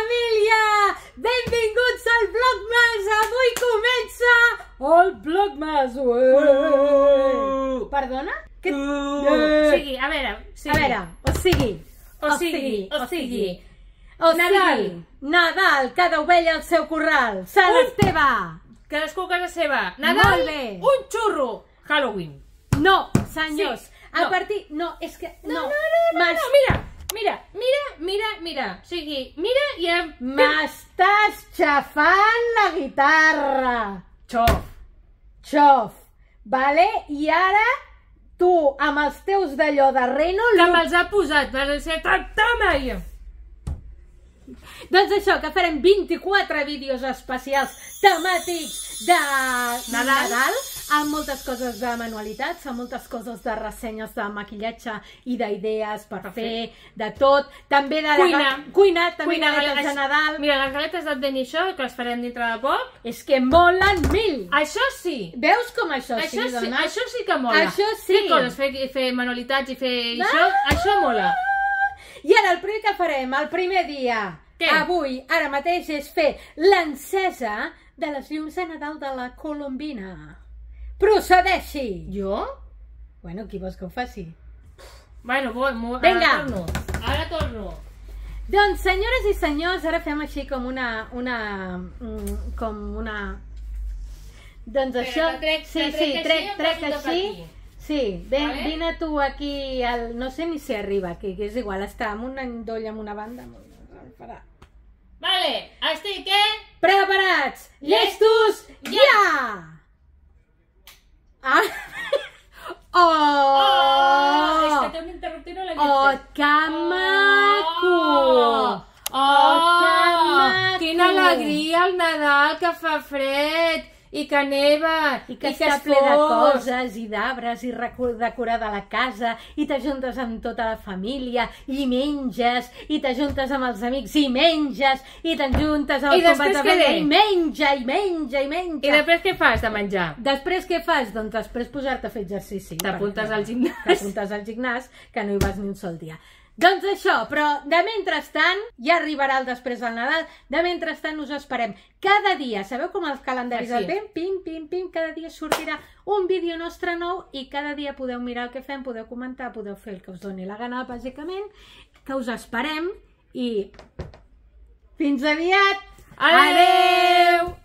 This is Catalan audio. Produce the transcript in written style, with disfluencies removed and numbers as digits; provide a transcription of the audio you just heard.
família! Benvinguts al Vlogmas! Avui comença el Vlogmas! Perdona? O sigui, a veure, o sigui, Nadal, cada ovella al seu corral, Sant Esteve! cadascú a casa seva. Molt Nadal, bé. un xurro. Halloween. No, senyors, Sí, a no. partir... No, és que... No, mira. O sigui, mira i... M'estàs xafant la guitarra! Xof. Xof, vale? I ara tu, amb els teus d'allò de reno... Que me'ls ha posat per ser toma jo. Doncs això, que farem 24 vídeos especials temàtics de Nadal, amb moltes coses de manualitats, amb moltes coses de ressenyes de maquillatge i d'idees per fer, de tot, també de cuina, també galetes de Nadal. Mira, les galetes d'Advent que les farem dintre de poc. És que molen mil! Això sí. Veus com això sí, dona? Això sí que mola. Això sí. Fer coses, fer manualitats i fer això mola. I ara el primer que farem, el primer dia, avui, ara mateix, és fer l'encesa de les llums de Nadal de la Colombina. Procedeixi! Jo? Bueno, qui vols que ho faci? Bueno, vinga! Ara torno. Doncs, senyores i senyors, ara fem així com una... Doncs això... Trec així. Sí, vine tu aquí, no sé ni si arriba aquí, que és igual, està amb un endoll amb una banda. Vale, estic, Preparats! Llestos, ja! És que té un interruptor i no l'he vist. Oh, que maco! Oh, que maco! Quina alegria el Nadal, que fa fred i que neva i que està ple de coses i d'arbres i decorada la casa i t'ajuntes amb tota la família i menges i t'ajuntes amb els amics i menges i t'ajuntes amb els companys de feina i menja. I després què fas de menjar? Després què fas? Doncs després posar-te a fer exercici. T'apuntes al gimnàs. T'apuntes al gimnàs, que no hi vas ni un sol dia. Doncs això, però de mentrestant, ja arribarà el després del Nadal, de mentrestant us esperem cada dia. Sabeu com els calendaris del temps? Pim, cada dia sortirà un vídeo nostre nou i cada dia podeu mirar el que fem, podeu comentar, podeu fer el que us doni la gana, bàsicament, que us esperem i fins aviat! Adeu!